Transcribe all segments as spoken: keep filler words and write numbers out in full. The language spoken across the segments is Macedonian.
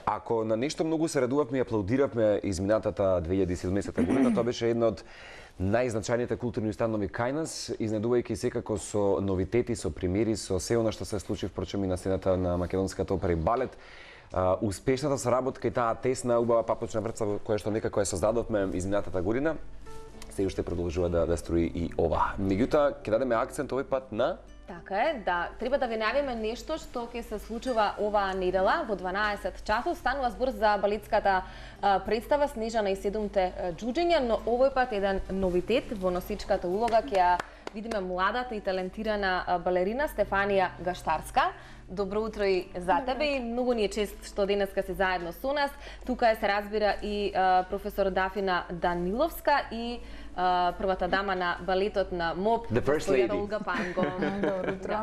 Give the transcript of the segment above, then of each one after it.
Ако на нешто многу се радувавме и аплаудиравме изминатата две илјади и седумнаесета година, тоа беше една од најзначајните културни установи кај нас, изненадувајќи секако со новитети, со примери, со се она што се случи впрочем и на сцената на македонската опера и балет. Uh, успешната соработка и таа тесна, убава папочна врца која што некако ја создадовме изминатата година, се уште продолжува да, да строи и ова. Меѓутоа, ќе дадеме акцент овој пат на... Така е, да. Треба да ви најавиме нешто што ќе се случува оваа недела во дванаесет часот. Станува збор за балетската а, представа Снежана и седумте џуџења, но овој пат еден новитет во носичката улога ќе ја видиме младата и талентирана балерина Стефанија Гаштарска. Добро утро и за тебе и многу ни е чест што денеска си заедно со нас. Тука е, се разбира, и а, професор Дафина Даниловска и а, првата дама на балетот на МОП, господја Олга Панго. Добро утро.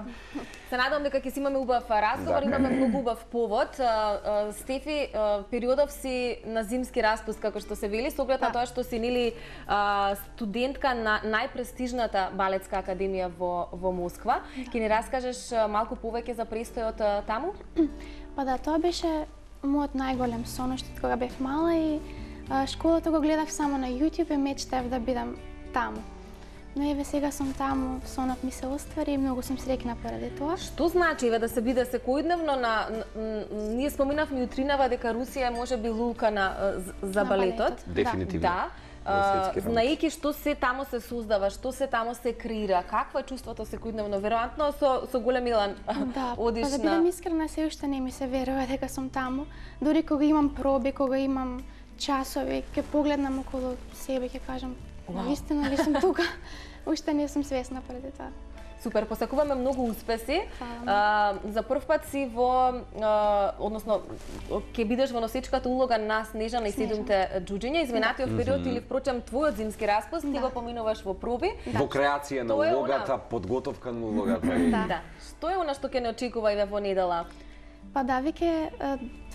Се надевам дека ќе си имаме убав разговор, имаме многу убав повод. А, а, Стефи, а, периодов си на зимски распуст, како што се вели, со оглед на тоа што си нели а, студентка на најпрестижната балетска академија во, во Москва. Ќе ни раскажеш малку повеќе за престојот таму? Па да, тоа беше мојот најголем сон уште кога бев мала и а, школата го гледав само на YouTube и мечтав да бидам таму. Но еве сега сум таму, сонот ми се оствари и многу сум среќна поради тоа. Што значи еве да се биде секојдневно на, на ние споминавме утринава дека Русија е можеби лулка на за на балетот? балетот. Дефинитивно. Да. Uh, знаејќи што се таму се создава, што се таму се креира, какво е чувството секојдневно? Веројатно со со голем илан да, одиш па да бидам искрена, се уште не ми се верува дека сум таму. Дури кога имам проби, кога имам часови, ќе погледнам околу себе, ќе кажам, навистина ли сум тука? Уште не сум свесна поради тоа. Супер, посакуваме многу успеси. А, за прв пат си во, а, односно, ќе бидеш во носичката улога на Снежана и седумте џуџења. Изминатиот период или впрочем твојот зимски распуст, да. Ти го поминуваш во проби. Да. Во креација на улогата, она... подготовка на улогата. Да. Да. Што е она што ќе не очекува и во недела? Па да, веќе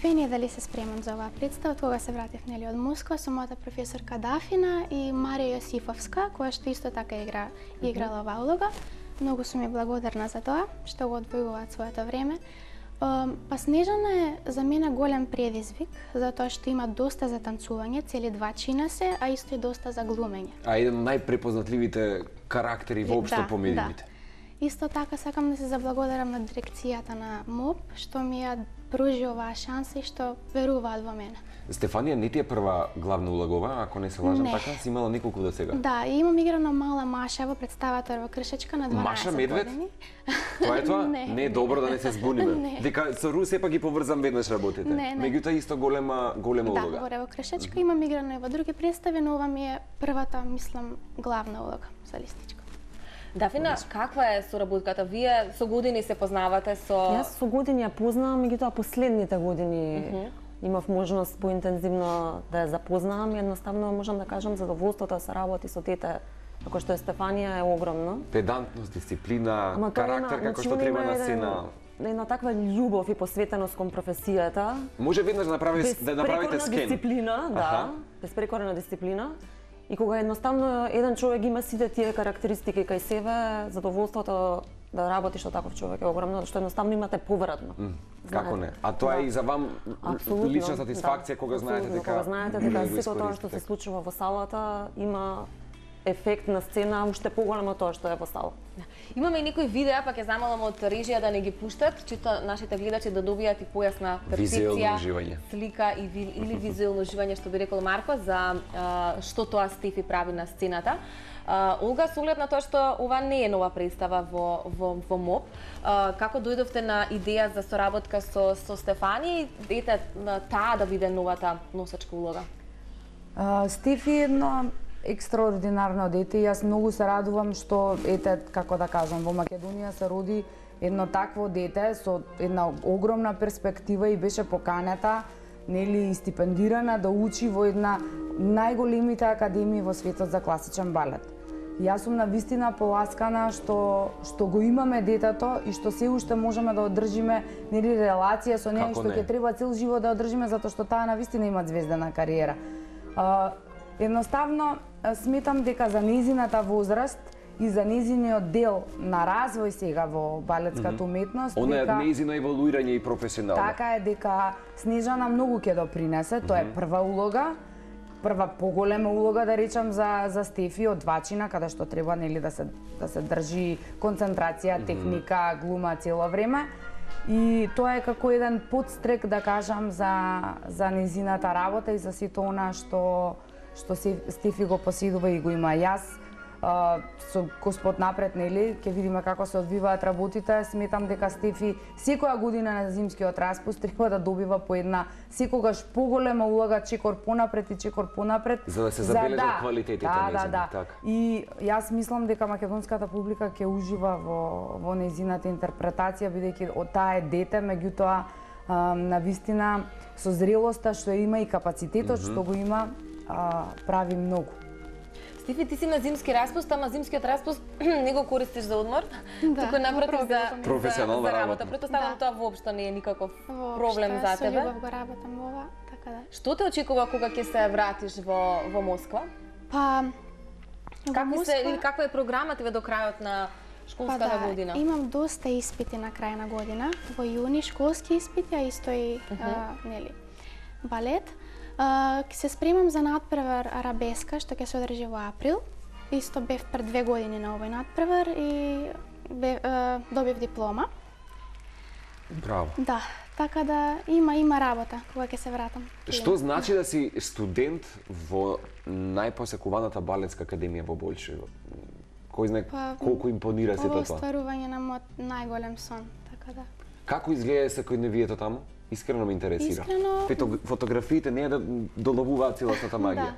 две недели се спремам за оваа представа, кога се вратив нели од Москва со мојата професорка Дафина и Марија Јосифовска, која што исто така игра играла оваа улога. Многу сум ја благодарна за тоа што го одвојуваат своето време. Па Снежана е за мене голем предизвик, затоа што има доста за танцување, цели два чина се, а исто и доста за глумење. А еден од најпрепознатливите карактери воопшто да, по медиумите. Да. Исто така сакам да се заблагодарам на дирекцијата на МОП што ми ја пружи оваа шанса и што веруваат во мене. Стефанија не ти е прва главна улога, ако не се лажам, не. Така си имала неколку до сега. Да, и имам играна мала Маша во представата во Кршечка на дванаесет Маша Медвед? години. Тоа е тоа? Не, не е добро да не се збуниме. Дека со Рус сепак ги поврзам веднаш работите. Не, не. Меѓутоа исто голема голема да, улога. Да, во Кршечка имам играна и во други представи, но ова ми е првата, мислам, главна улога за листичка. Дафина, каква е соработката? Вие со години се познавате со... Јас со години ја познавам, меѓутоа последните години uh -huh. имав можност поинтензивно да ја запознавам. Едноставно можам да кажам задоволството да се работи со дете како што е Стефанија е огромно. Педантност, дисциплина, Ама карактер како што треба на сцена. Една таква љубов и посветеност кон професијата. Може веднаш да направите да направите скен. Дисциплина, да, безпрекорна дисциплина. И кога едноставно еден човек има сите тие карактеристики кај себе, задоволството да работиш со таков човек е огромно, што едноставно имате повратно. Mm, како не? А тоа да. е и за вам Абсолютно, лична сатисфакција да. Кога знаете дека кога знаете дека сето тоа што се случува во салата има ефект на сцена уште поголем од тоа што е во сала. Имаме и некои видеа, па ќе замолам од режија да не ги пуштат, чито нашите гледачи да добијат и појасна перцепција, слика и ви, или визуелно уживање, што би рекол Марко, за а, што тоа Стефи прави на сцената. А, Олга, со оглед на тоа што ова не е нова представа во, во, во МОП, а, како дојдовте на идеја за соработка со, со Стефани и ете таа да биде новата носачка улога? А, Стефи е едно екстраординарно дете и јас многу се радувам што, ете, како да кажам, во Македонија се роди едно такво дете со една огромна перспектива и беше поканета, нели, стипендирана да учи во една најголемите академии во светот за класичен балет. Јас сум навистина поласкана што што го имаме детето и што се уште можеме да одржиме, нели, релација со неа, што ќе треба цел живот да одржиме затоа што таа навистина има звездена кариера. Uh, едноставно сметам дека за нејзината возраст и за незиниот дел на развој сега во балетската уметност. Она е незино еволуирање и професионално. Така е, дека Снежана многу ќе допринесе, тоа е прва улога, прва поголема улога да речам за за Стефи од двачина, каде што треба нели да се да се држи концентрација, техника, глума цело време. И тоа е како еден подстрек да кажам за за незината работа и за сето она што што Стефи го поседува и го има. Јас Uh, со Господ напред, нели, ќе видиме како се одвиваат работите. Сметам дека Стефи секоја година на зимскиот распуст треба да добива по една секогаш поголема улога, чекор понапред и чекор понапред. За да се забележат да, квалитетите да, незини, да, да. така. И јас мислам дека македонската публика ќе ужива во во незината интерпретација, бидејќи од таа е дете, меѓутоа на вистина со зрелоста што има и капацитетот mm -hmm. што го има, а, прави многу. Стефи, ти си на зимски распуст, ама зимскиот распуст не го користиш за одмор, да, туку напротив за, професионална за, за работа. работа. Претпоставам да. тоа воопшто не е никаков воопшто, проблем за тебе. Со љубов го работам во ова, така да. Што те очекува кога ќе се вратиш во во Москва? Па Какви Москва... се или каква е програмата ве до крајот на школската па, да, година? Имам доста испити на крај на година. Во јуни школски испити, а исто и uh -huh. а, нели балет. А, се спремам за надпревар арабеска што ќе се одржи во април. Исто бев пред две години на овој надпревар и бе, а, добив диплома. Браво. Да, така да има има работа кога ќе се вратам. Што значи да си студент во најпосекуваната балетска академија во Болшево? Кој знае па, колку импонира сето тоа? тоа? Остварување на мојот најголем сон, така да. Како изгледа секојдневието таму? Искрено ме интересира. Искрено... Фето, фотографиите не е да доловуваат целосната магија. Да.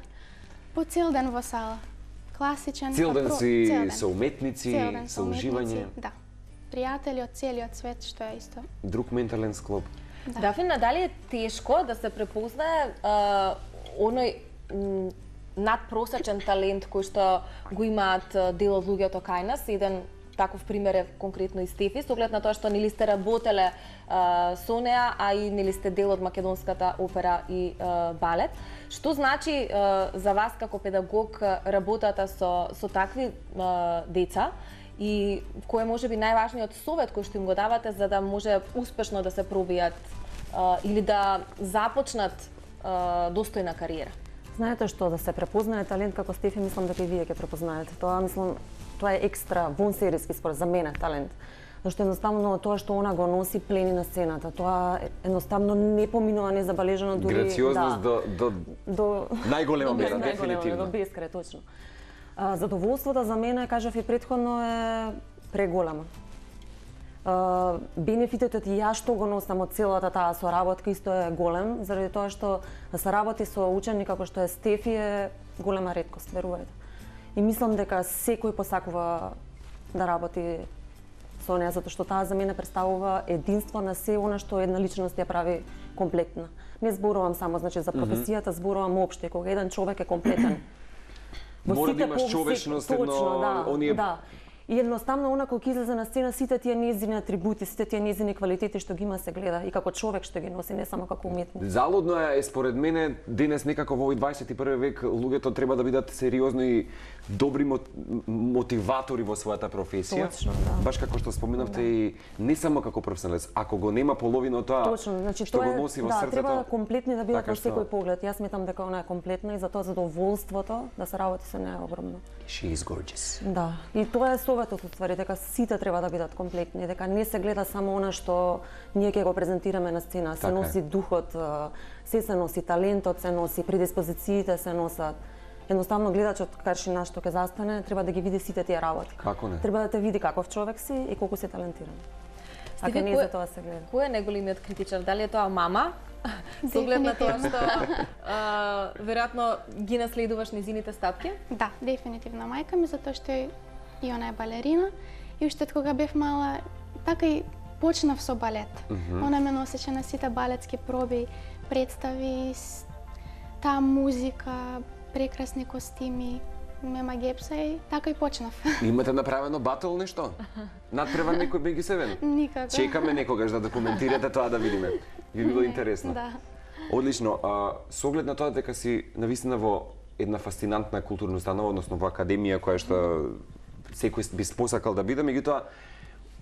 По цел ден во сала. Класичен. Цел ден си цел ден. со уметници, Цел ден со уживање. Да. Пријатели од целиот свет, што е исто. Друг ментален склоп. Да. Дафина, дали е тешко да се препознае а, оној м, надпросечен талент кој што го имаат дел од луѓето кај нас? Еден таков пример е конкретно и Стефи, со оглед на тоа што нели сте работеле а, со неа, а и нели сте дел од македонската опера и а, балет. Што значи а, за вас како педагог работата со со такви а, деца и кој е можеби најважниот совет кој што им го давате за да може успешно да се пробијат а, или да започнат а, достојна кариера? Знаете што, да се препознае талент како Стефи, мислам дека и вие ќе препознаете. Тоа мислам тоа е екстра вонсериски според за мене талент. Зашто едноставно тоа што она го носи плени на сцената, тоа едноставно не поминува незабележано дури грациозност да, до до до најголема мера, до дефинитивно. до бескрај, точно. А, задоволството за мене, кажав и претходно, е преголема. А, бенефитот и јас што го носам од целата таа соработка исто е голем, заради тоа што да се работи со ученик како што е Стефи е голема реткост, верувајте. И мислам дека секој посакува да работи со неа, затоа што таа за мене представува единство на се она што една личност ја прави комплетна. Не зборувам само значи за професијата, зборувам општо, кога еден човек е комплетен. Мора да имаш човечност, едно, да, оние... да. И едноставно она кога излезе на сцена, сите тие нејзини атрибути, сите тие нејзини квалитети што ги има се гледа и како човек што ги носи, не само како уметник. Залудно е според мене денес некако во овој дваесет и први век луѓето треба да бидат сериозни и добри мотиватори во својата професија. Точно, да. Баш како што споменавте да. И не само како професионалец, ако го нема половина од тоа Точно, значи, што тоа го носи во да, срцето. треба комплетни да бидат така во секој поглед. Јас сметам дека она е комплетна и затоа задоволството да се работи со неа е огромно. She is gorgeous. Да, и тоа е советот уствари, дека сите треба да бидат комплетни, дека не се гледа само она што ние ќе го презентираме на сцена, се така носи е. духот, се се носи талентот, се носи предиспозициите, се носат. Едноставно гледачот каршина што ќе застане, треба да ги види сите тие работи. Како не? Треба да те види каков човек си и колку си талентиран. Ако не за тоа се гледа. Кој е најголемиот критичар? Дали е тоа мама? Со оглед на тоа што а, веројатно ги наследуваш низините стапки? Да, дефинитивно мајка ми, затоа што и она е балерина и уште кога бев мала, така и почнав со балет. Mm -hmm. Она ме носеше на сите балетски проби, представи, таа музика, прекрасни костими, мема гепса и така и почнав. Имате направено батл нешто? Надпревар некој Беги Севен? Никако. Чекаме некогаш да документирате тоа да видиме. Би било интересно. Да. Одлично. А, со оглед на тоа дека си навистина во една фасцинантна културна установа, односно во академија која што секој би посакал да биде, меѓутоа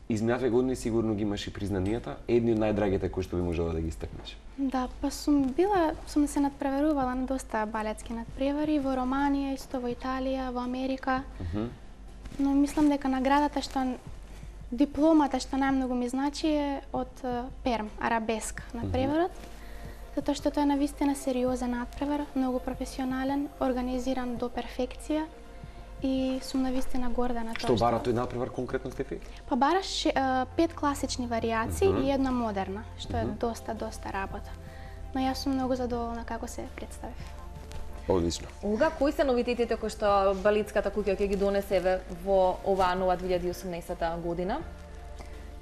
изминатите години сигурно ги имаш и признанијата, едни од најдрагите кои што би можела да ги истакнеш. Да, па сум била, сум се надпреварувала на доста балетски надпревари во Романија, исто во Италија, во Америка. Uh -huh. Но мислам дека наградата што дипломата што најмногу ми значи е од Перм, арабеска надпреварот. Uh -huh. Затоа што тоа е навистина сериозен надпревар, многу професионален, организиран до перфекција. И сум навистина горда на тоа што... Што бара тој надпревар конкретно, Стефи? Па бараш пет класични варијации uh -huh. и една модерна, што е uh -huh. доста, доста работа. Но јас сум многу задоволна како се представив. Одлично. Олга, кои се новитетите кои што Балетската куќа ќе ги донесе во оваа нова две илјади и осумнаесета година?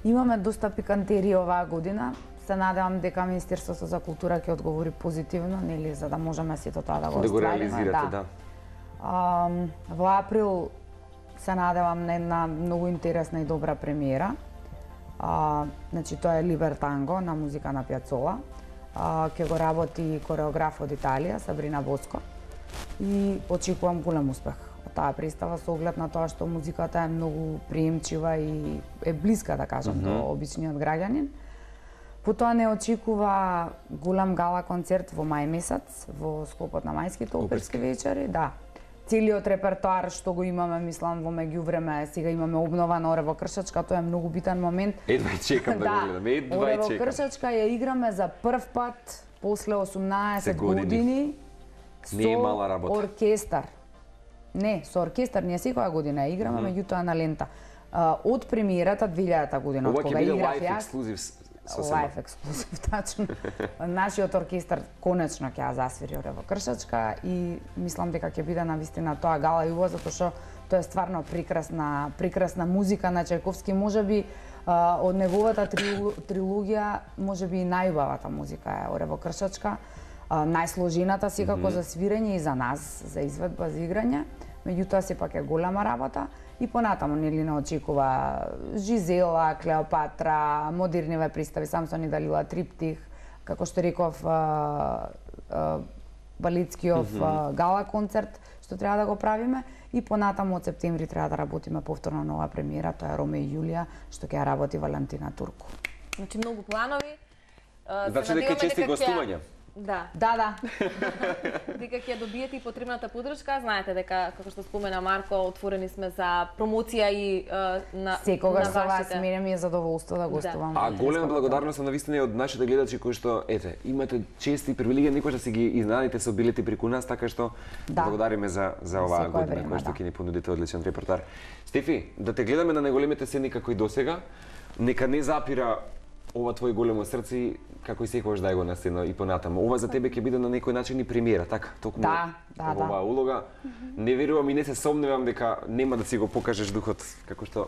Имаме доста пикантерии оваа година. Се надевам дека Министерството за култура ќе одговори позитивно, нели, за да можеме сето тоа да го да оствариме. го реализирате, да. да. Um, во април се надевам на една многу интересна и добра премиера. Uh, значи тоа е Либертанго на музика на Пјацола. Uh, ќе го работи кореограф од Италија, Сабрина Боско. И очекувам голем успех од таа представа со оглед на тоа што музиката е многу приемчива и е блиска, да кажам, mm -hmm. до обичниот граѓанин. Потоа не очекува голем гала концерт во мај месец, во склопот на мајските оперски вечери, да. Целиот репертоар што го имаме, мислам, во меѓувреме, сега имаме обнова на Орево Кршачка, тоа е многу битен момент. Едва и чекам да, да го гледам, едва и чекам. Орево Кршачка ја играме за прв пат после осумнаесет години. Не е мала работа. Оркестар. Не, со оркестар ние секоја година ја играме, mm -hmm. меѓутоа на лента. Uh, од премиерата две илјадата година, од кога играв јас. Ексклузив Лайф ексклузив, тачно. Нашиот оркестар конечно ќе ја засвири Орево Кршачка и мислам дека ќе биде навистина тоа гала јуво, затоа што тоа е стварно прекрасна, прекрасна музика на Чајковски, можеби од неговата трилогија, можеби и најубавата музика е Орево Кршачка, најсложената секако mm -hmm. за свирење и за нас, за изведба, за играње, меѓутоа сепак е голема работа. И понатаму нели не очекува Жизела, Клеопатра, модерниве представи, Самсон и Далила, Триптих, како што реков, Балетскиов mm -hmm. гала концерт што треба да го правиме и понатаму од септември треба да работиме повторно нова премиера, тоа е Роме и Јулија, што ќе ја работи Валентина Турку. Значи многу планови. Значи дека чести гостувања. Да. Да, да. Дека ќе добиете и потребната поддршка, знаете дека како што спомена Марко, отворени сме за промоција и uh, на секогаш со вас, мене ми е задоволство да гостувам. Да. А голема благодарност на навистина од нашите гледачи кои што ете, имате чести привилегија никогаш да си ги изненадите со билети преку нас, така што да. Благодариме за за оваа година која што ќе да. Ни понудите одличен репертоар. Стефи, да те гледаме на најголемите сцени како и досега, нека не запира ова твое големо срце, како и секогаш дај го на сцена и понатаму. Ова за тебе ќе биде на некој начин и премиера, така? Токму да, да, оваа да. улога. Mm -hmm. Не верувам и не се сомневам дека нема да си го покажеш духот, како што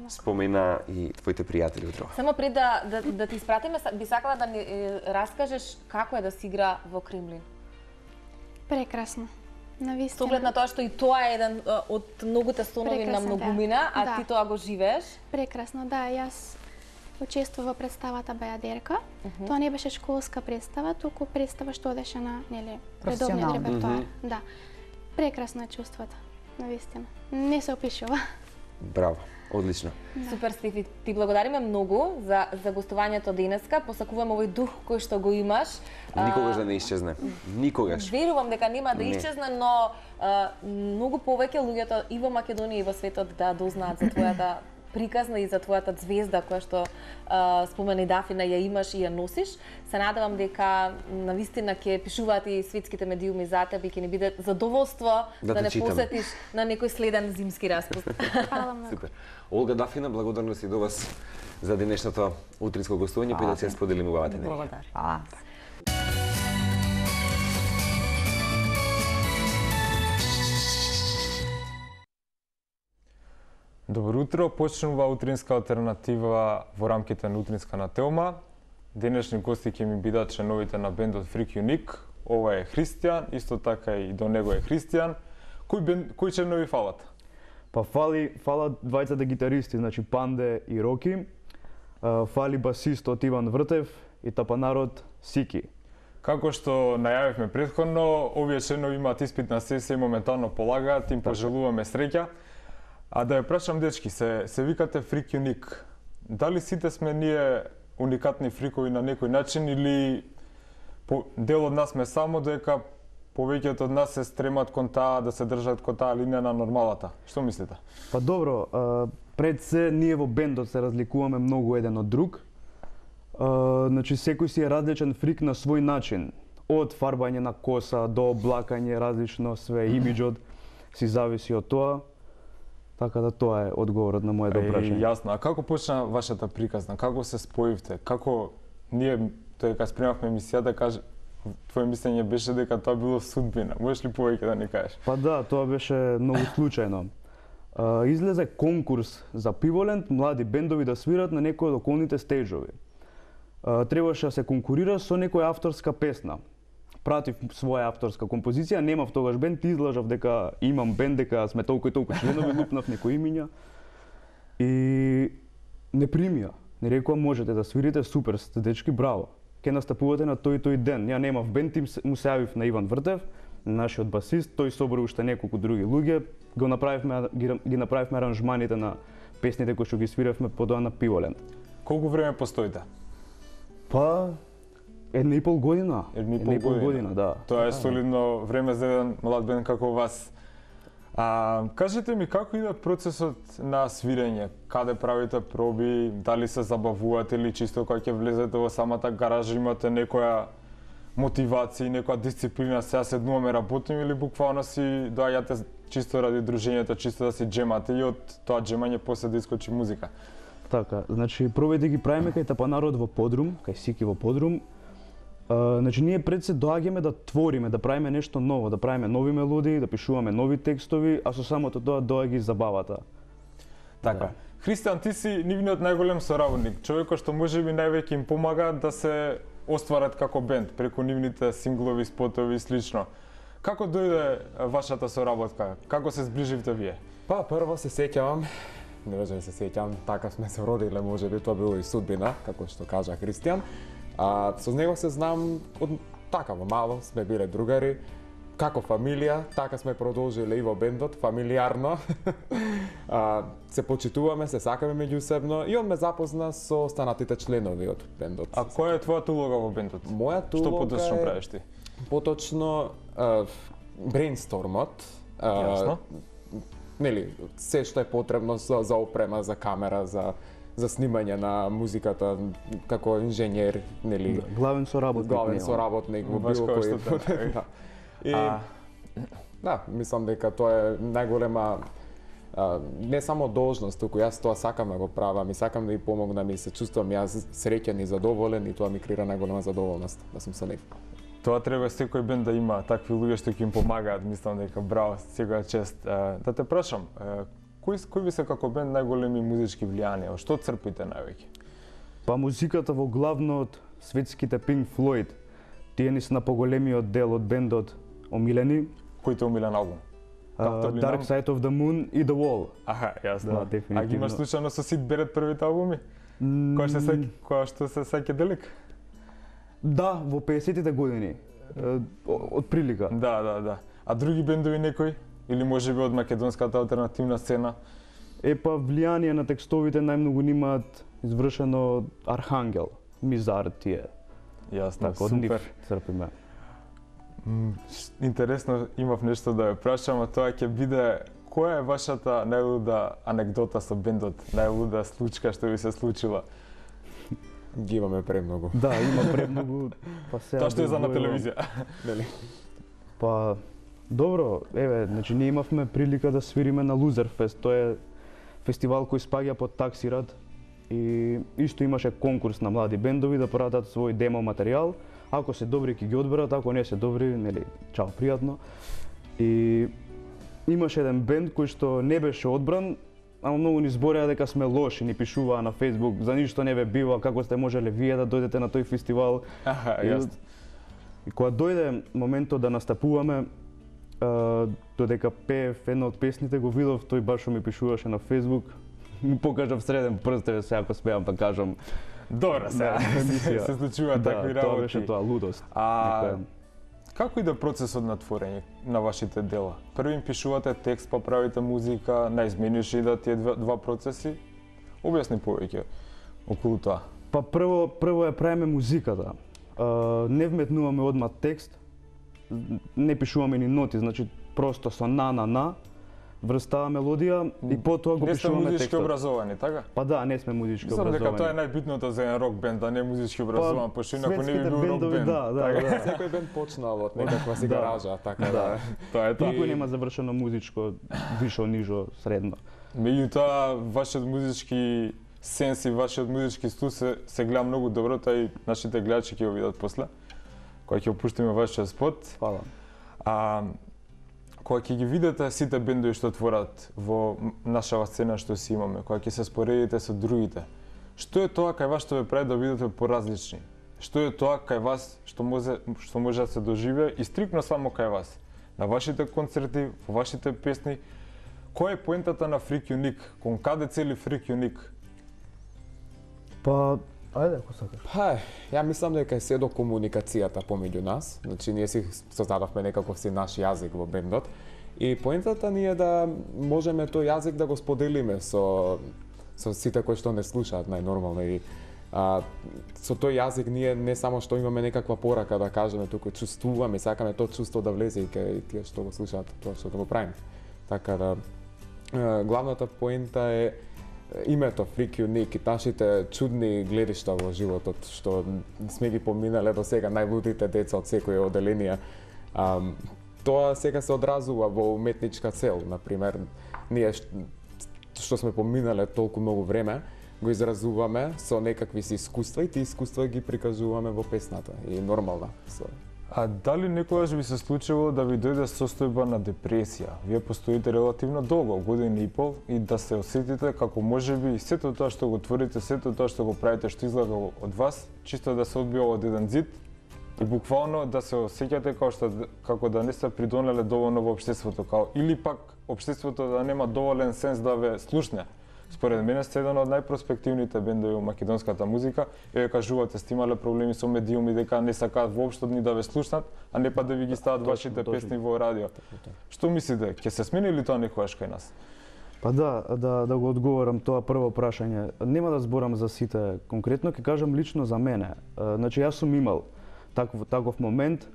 спомена и твоите пријатели утро. Само пред да, да, да ти испратиме, би сакала да ни е, раскажеш како е да си игра во Кремлин. Прекрасно. Навистина. Со оглед на тоа што и тоа е еден од многуте стонови на многумина, да. А да. Ти тоа го живееш? Прекрасно, да. Јас учествува во представата Бајадерка. Uh -huh. Тоа не беше школска представа, туку представа што одеше на, нели, редовниот репертоар. Uh -huh. Да. Прекрасно е чувството, навистина. Не се опишува. Браво, одлично. Да. Супер, Стефи, ти благодариме многу за за гостувањето денеска. Посакуваме овој дух кој што го имаш. Никогаш да не исчезне. Никогаш. Верувам дека нема да исчезне, но а, многу повеќе луѓето и во Македонија и во светот да дознаат за твојата приказна и за твојата звезда која што а, спомени Дафина ја имаш и ја носиш. Се надевам дека навистина ќе пишуваат и светските медиуми за тебе и ќе ни биде задоволство да, да не читам. Посетиш на некој следен зимски распуст. Фала многу. Супер. Олга Дафина, благодарност и до вас за денешното утринско гостување, па да се споделиме убавата енергија. Благодарам. Фала. Добро утро, почнува утринска алтернатива во рамките на утринска на Телма. Денешни гости ќе ми бидат членовите на бендот Freak Unique. Ова е Христијан, исто така и до него е Христијан. Кој бенд, кои членови фалат? Па фали, фалат двајцата гитаристи, значи Панде и Роки. Фали басистот Иван Вртев и тапанарот Сики. Како што најавивме претходно, овие членови имаат испитна сесија и моментално полагаат, им пожелуваме среќа. А да ја прашам дечки, се се викате Freak Unique. Дали сите сме ние уникатни фрикови на некој начин или по, дел од нас сме само дека повеќето од нас се стремат кон таа да се држат кон таа линија на нормалата? Што мислите? Па добро, а, пред се ние во бендот се разликуваме многу еден од друг. А, значи секој си е различен фрик на свој начин. Од фарбање на коса до облакање, различно све, имиџот си зависи од тоа. Така да тоа е одговорот на моето прашање. Јасно. А како почна вашата приказна? Како се споивте? Како ние тој кога спремавме емисијата, каже твое мислење беше дека тоа било судбина. Можеш ли повеќе да ни кажеш? Па да, тоа беше многу случајно. Uh, излезе конкурс за Пиволенд, млади бендови да свират на некои од околните стејџови. Uh, требаше да се конкурира со некоја авторска песна. Пратив своја авторска композиција, немав тогаш бенд, излажав дека имам бенд, дека сме толку и толку членови, лупнав некои имиња. И не примија. Не рекоа можете да свирите, супер сте дечки, браво. Ке настапувате на тој и тој ден. Ја немав бенд, им му се јавив на Иван Вртев, нашиот басист, тој собра уште неколку други луѓе, го направивме ги, ги направивме аранжманите на песните кои што ги свиревме подоа на Пиволенд. Колку време постоите? Па една и пол година. Една и пол, една и пол година. година, да. Тоа е солидно време за еден млад бенд како вас. А, кажете ми како иде процесот на свирење? Каде правите проби? Дали се забавувате или чисто кога ќе влезете во самата гаража имате некоја мотивација и некоја дисциплина, сега седнуваме работиме или буквално си доаѓате чисто ради дружењето, чисто да си джемате и од тоа джемање после да искочи музика? Така, значи пробите ги правиме кај Тапанарот во подрум, кај Сики во подрум. Uh, значи ние пред се доаѓаме да твориме, да правиме нешто ново, да правиме нови мелодии, да пишуваме нови текстови, а со самото тоа доаѓа и забавата. Така. Да. Христијан, ти си нивниот најголем соработник, човекот што можеби највеќе им помага да се остварат како бенд преку нивните синглови, спотови и слично. Како дојде вашата соработка? Како се зближивте вие? Па прво се сеќавам, не можам да се сеќавам, така сме се родиле, можеби тоа било и судбина, како што кажа Христијан. А со него се знам од така во мало, сме биле другари, како фамилија, така сме продолжиле и во бендот, фамилиарно. а, се почитуваме, се сакаме меѓусебно и он ме запозна со останатите членови од бендот. А која е твојата улога во бендот? Мојата улога Што поточно е, правиш ти? Поточно а, брейнстормот. Јасно. Нели, се што е потребно за, за опрема, за камера, за за снимање на музиката како инженер, нели, Да, главен соработник. главен соработник во било кој. Да. И А... да, мислам дека тоа е најголема а, не само должност, туку јас тоа сакам да го правам и сакам да и помогнам и се чувствам јас среќен и задоволен и тоа ми крира најголема задоволност да сум со нив. Тоа треба секој бенд да има такви луѓе што ќе им помагаат, мислам дека браво, секоја чест. Да те прашам, кои кои ви се како бенд најголеми музички влијанија? Што црпите највеќе? Па музиката во главно од светските Pink Floyd. Тие ни се на поголемиот дел од бендот омилени. Кој те омилен албум? Uh, Dark Side of the Moon и The Wall. Аха, јасно. Да, дефинитивно. А ги имаш случајно со Сид Берет првите албуми? Mm. Која што се која што се сеќа делик? Да, во педесетите години. Uh, од прилика. Да, да, да. А други бендови некои? Или можеби од македонската алтернативна сцена? Е па влијание на текстовите најмногу нимаат извршено Архангел, Мизар тие. Јасно, Така, од нив супер. црпиме. Интересно, имав нешто да ја прашам, а тоа ќе биде која е вашата најлуда анекдота со бендот, најлуда случка што ви се случила? Ги имаме премногу. Да, има премногу, па сега Тоа што е за на да телевизија. Нели? Па добро, еве, значи ние имавме прилика да свириме на Loser Fest, тоа е фестивал кој спаѓа под Таксират и исто имаше конкурс на млади бендови да пратат свој демо материјал. Ако се добри ќе ги одберат, ако не се добри, нели, чао, пријатно. И имаше еден бенд кој што не беше одбран, ама многу ни збореа дека сме лоши, ни пишуваа на Facebook, за ништо не ве бива, како сте можеле вие да дојдете на тој фестивал. Аха, И- јасно. И кога дојде моментот да настапуваме, а, додека пеев една од песните, го видов, тој баш ми пишуваше на Facebook. Му покажав среден прст, еве сега ако смеам да кажам. Добро, сега Да, се емисија. се случуваат Да, такви тоа работи. беше тоа лудост. А Некоја- Како иде процесот на творење на вашите дела? Први им пишувате текст, па правите музика, наизмениш и да тие два, два процеси? Објасни повеќе околу тоа. Па прво прво ја правиме музиката. Uh, не вметнуваме одма текст, не пишуваме ни ноти, значи просто со на на на врстава мелодија и потоа го пишуваме текстот. Не сте музички образовани, така? Па да, не сме музички Мислам образовани. дека тоа е најбитното за еден рок бенд, да не е музички образован, па, пошто инаку не би бил рок бенд. Да, да, така? да. Секој бенд почнал од некаква си гаража, така да. Тоа е тоа. Никој нема завршено музичко, вишо, нижо, средно. Меѓутоа, вашиот музички сенс и вашиот музички стил се, се гледа многу добро, тоа и нашите гледачи ќе го видат после, кога ќе опуштиме вашиот спот. Фала. А, кога ќе ги видите сите бендови што творат во нашава сцена што си имаме, кога ќе се споредите со другите, што е тоа кај вас што ве прави да бидете поразлични? Што е тоа кај вас што може што може да се доживее и стрикно само кај вас? На вашите концерти, во вашите песни, која е поентата на Freak Unique? Кон каде цели Freak Unique? Па, ајде ако сакаш. Па, ја мислам дека е се до комуникацијата помеѓу нас. Значи ние си создадовме некаков си наш јазик во бендот и поентата ни е да можеме тој јазик да го споделиме со со сите кои што не слушаат најнормално и а, со тој јазик ние не само што имаме некаква порака да кажеме, туку чувствуваме, сакаме тоа чувство да влезе и кај тие што го слушаат тоа што да го правиме. Така да главната поента е името Freak Unique и нашите чудни гледишта во животот што сме ги поминале до сега, најлудите деца од секоја оделенија. А, тоа сега се одразува во уметничка цел, например, ние што сме поминале толку многу време, го изразуваме со некакви си искуства и тие искуства ги прикажуваме во песната и нормална. А дали некогаш ви се случило да ви дојде состојба на депресија? Вие постоите релативно долго, година и пол, и да се осетите како можеби сето тоа што го творите, сето тоа што го правите, што излага од вас, чисто да се одбива од еден зид и буквално да се осеќате како што како да не сте придонеле доволно во општеството, како или пак општеството да нема доволен сенс да ве слушне. Според мене сте еден од најпроспективните бендови во македонската музика. Еве кажувате сте имале проблеми со медиуми дека не сакаат воопшто ни да ве слушнат, а не па да ви ги стават вашите песни во радио. Што мислите, ќе се смени ли тоа некогаш кај нас? Па да, да, да го одговорам тоа прво прашање. Нема да зборам за сите конкретно, ќе кажам лично за мене. Значи јас сум имал таков таков момент.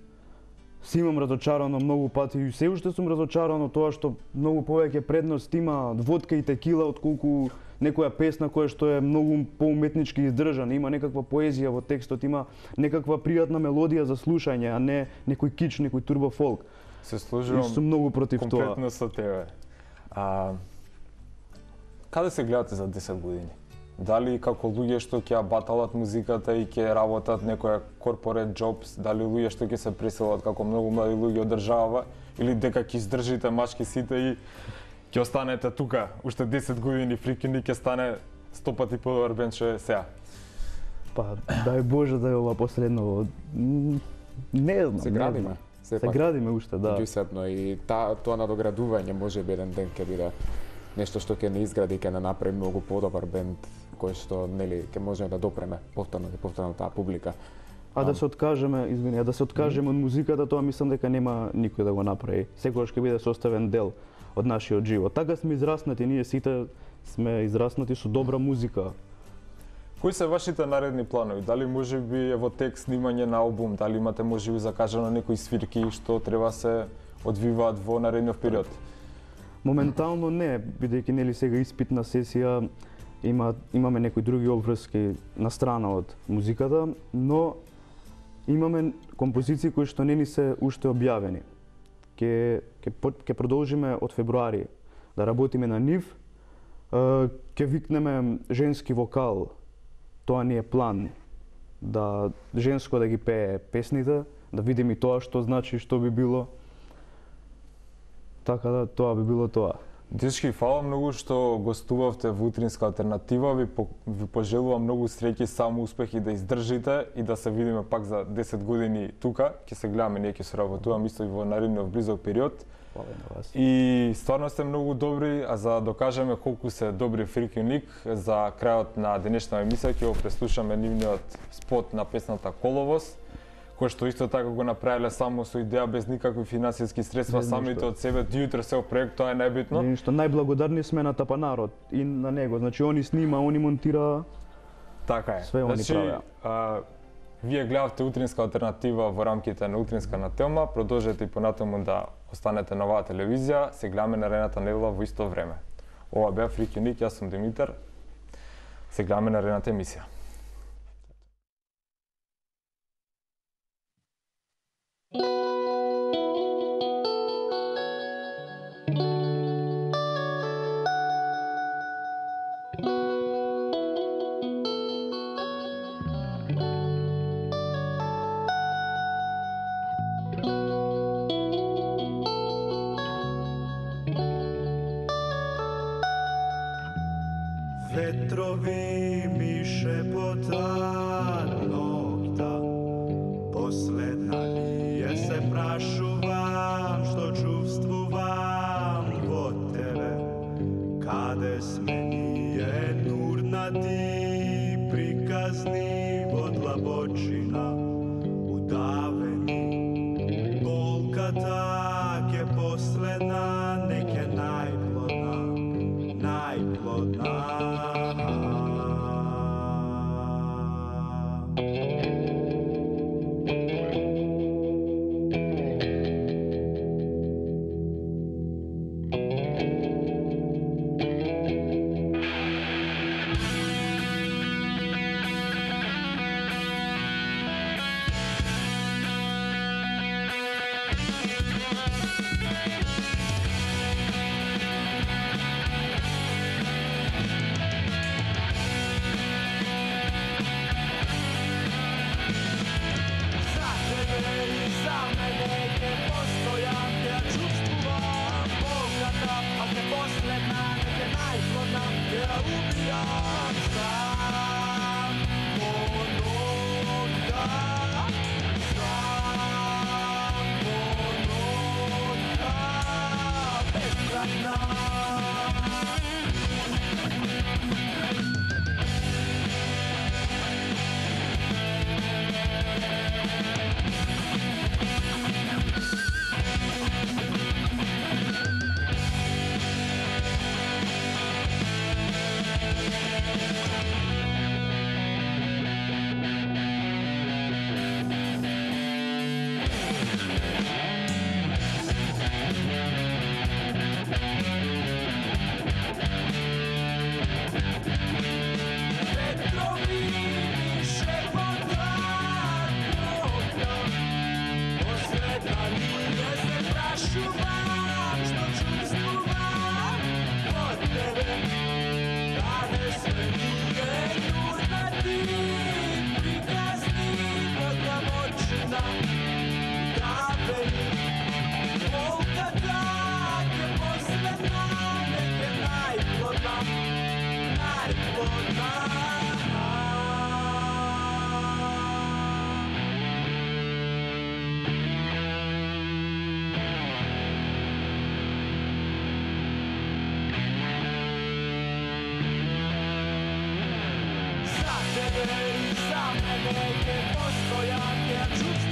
Си имам разочарано многу пати и се уште сум разочарано тоа што многу повеќе предност има водка и текила отколку некоја песна која што е многу поуметнички издржана, има некаква поезија во текстот, има некаква пријатна мелодија за слушање, а не некој кич, некој турбо фолк. Се сложувам сум многу против тоа. Комплетно со тебе. А каде се гледате за десет години? Дали како луѓе што ќе баталат музиката и ќе работат некоја корпорет джобс, дали луѓе што ќе се преселат како многу млади луѓе од држава, или дека ќе издржите мачки сите и ќе останете тука, уште десет години Freak Unique ќе стане сто пати подобар бенд што е сега? Па, дај Боже да е ова последно. Не знам. Се градиме. Се градиме уште, да. Меѓусебно и та, тоа надоградување може би еден ден ќе биде нешто што ќе не изгради, ќе не направи многу подобар бенд кој што нели ќе можеме да допреме повторно и повторно таа публика. А да се откажеме, извини, а да се откажеме од музиката, тоа мислам дека нема никој да го направи. Секогаш ќе биде составен дел од нашиот живот. Така сме израснати, ние сите сме израснати со добра музика. Кои се вашите наредни планови? Дали можеби е во текст снимање на албум, дали имате можеби закажано некои свирки што треба се одвиваат во наредниот период? Моментално не, бидејќи нели сега испитна сесија, има имаме некои други обврски на страна од музиката, но имаме композиции кои што не ни се уште објавени. Ке ке ке продолжиме од февруари да работиме на нив. Ке викнеме женски вокал. Тоа ни е план, да женско да ги пее песните, да видиме и тоа што значи, што би било. Така да, тоа би било тоа. Дечки, фала многу што гостувавте во Утринска алтернатива. Ви, по, ви пожелувам многу среќи, само успех и да издржите и да се видиме пак за десет години тука. Ќе се гледаме, ние ќе соработуваме исто и во наредниот близок период. Фала на вас. И стварно сте многу добри, а за да докажеме колку се добри Freak Unique, за крајот на денешна емисија ќе го преслушаме нивниот спот на песната Коловоз, кои што исто така го направиле само со идеја без никакви финансиски средства, Без самите ништо. од себе, диутре се проект, тоа е најбитно. Нешто најблагодарни сме на Тапанарот и на него. Значи они снима, они монтира. Така е. Све они значи, правеа. а, вие гледавте утринска алтернатива во рамките на утринска на Телма, продолжете и понатаму да останете на оваа телевизија, се гледаме наредната недела во исто време. Ова беа Фрик Юник, јас сум Димитар. Се гледаме наредната емисија. Vetrovi mi šepota nokta, последна ли je se prašuvam, što čuvstvuvam od tebe, kade smenije nurna ti prikazni od labočina udaveni, bolka tak je posledna, neke najplodna, najplodna. Za mene i za mene je postojanje čuvstva.